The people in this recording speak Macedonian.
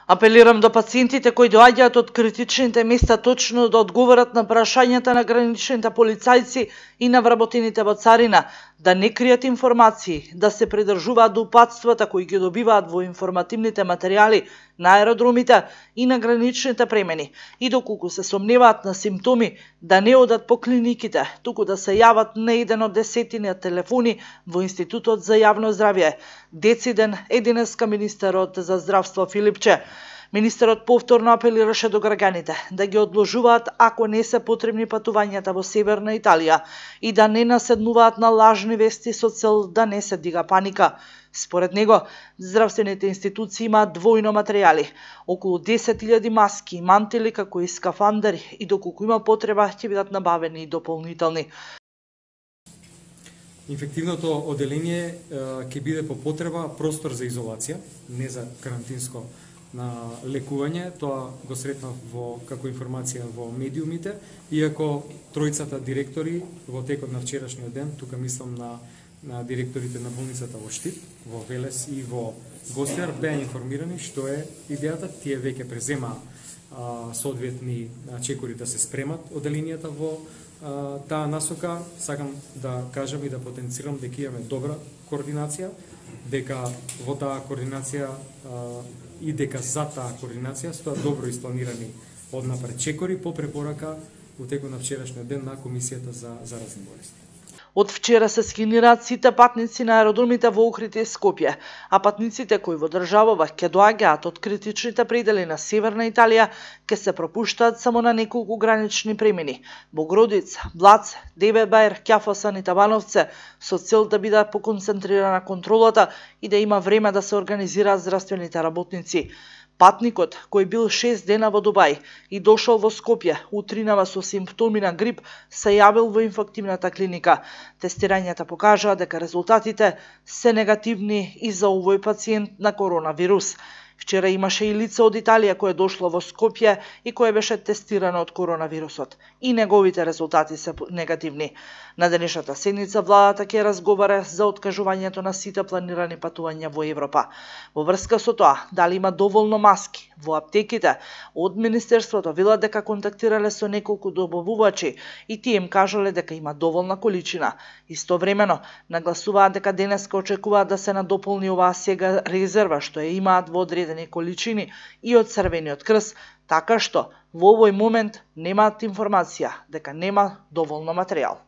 Апелирам до пациентите кои доаѓаат од критичните места точно да одговорат на прашањата на граничните полицајци и на вработените во царина, да не кријат информации, да се придржуваат до упатствата кои ги добиваат во информативните материјали на аеродромите и на граничните премени, и доколку се сомневаат на симптоми, да не одат по клиниките, туку да се јават на еден од десетина телефони во Институтот за јавно здравје. Дециден е денеска министерот за здравство Филипче. Министерот повторно апелираше до граѓаните да ги одложуваат ако не се потребни патувањата во Северна Италија и да не наседнуваат на лажни вести со цел да не се дига паника. Според него, здравствените институции имаат двојно материјали, околу 10.000 маски, мантили како и скафандери, и доколку има потреба ќе бидат набавени и дополнителни. Инфективното оделение ќе биде по потреба простор за изолација, не за карантинско на лекување. Тоа го сретнав како информација во медиумите, иако тројцата директори во текот на вчерашниот ден, тука мислам на директорите на болницата во Штип, во Велес и во Гостиар, беа информирани што е идејата. Тие веќе презема соодветни чекори да се спремат оделенијата во таа насока. Сакам да кажам и да потенцирам дека имаме добра координација, дека во таа координација и дека за таа координација стојат добро испланирани однапред чекори по препорака во текот на вчерашниот ден на Комисијата за заразни болести. Од вчера се скинираат сите патници на аеродромите во Охрид и Скопје, а патниците кои во државава ќе доаѓаат од критичните предели на Северна Италија ќе се пропуштаат само на неколку гранични премини: Богродица, Блац, Девебајр, Ќафосан и Табановце, со цел да биде поконцентрирана контролата и да има време да се организираат здравствените работници. Патникот, кој бил 6 дена во Дубај и дошол во Скопје утринава со симптоми на грип, се јавил во инфективната клиника. Тестирањата покажаа дека резултатите се негативни и за овој пациент на коронавирус. Вчера имаше и лице од Италија кое дошло во Скопје и кое беше тестирано од коронавирусот. И неговите резултати се негативни. На денешната седница владата ќе разговара за откажувањето на сите планирани патувања во Европа. Во врска со тоа, дали има доволно маски во аптеките, од Министерството велат дека контактирале со неколку добавувачи и тие им кажале дека има доволна количина. Истовремено, нагласуваат дека денеска очекуваат да се надополни оваа сега резерва што ја имаат во одредени количини и од Црвениот крст, така што во овој момент немаат информација дека нема доволно материјал.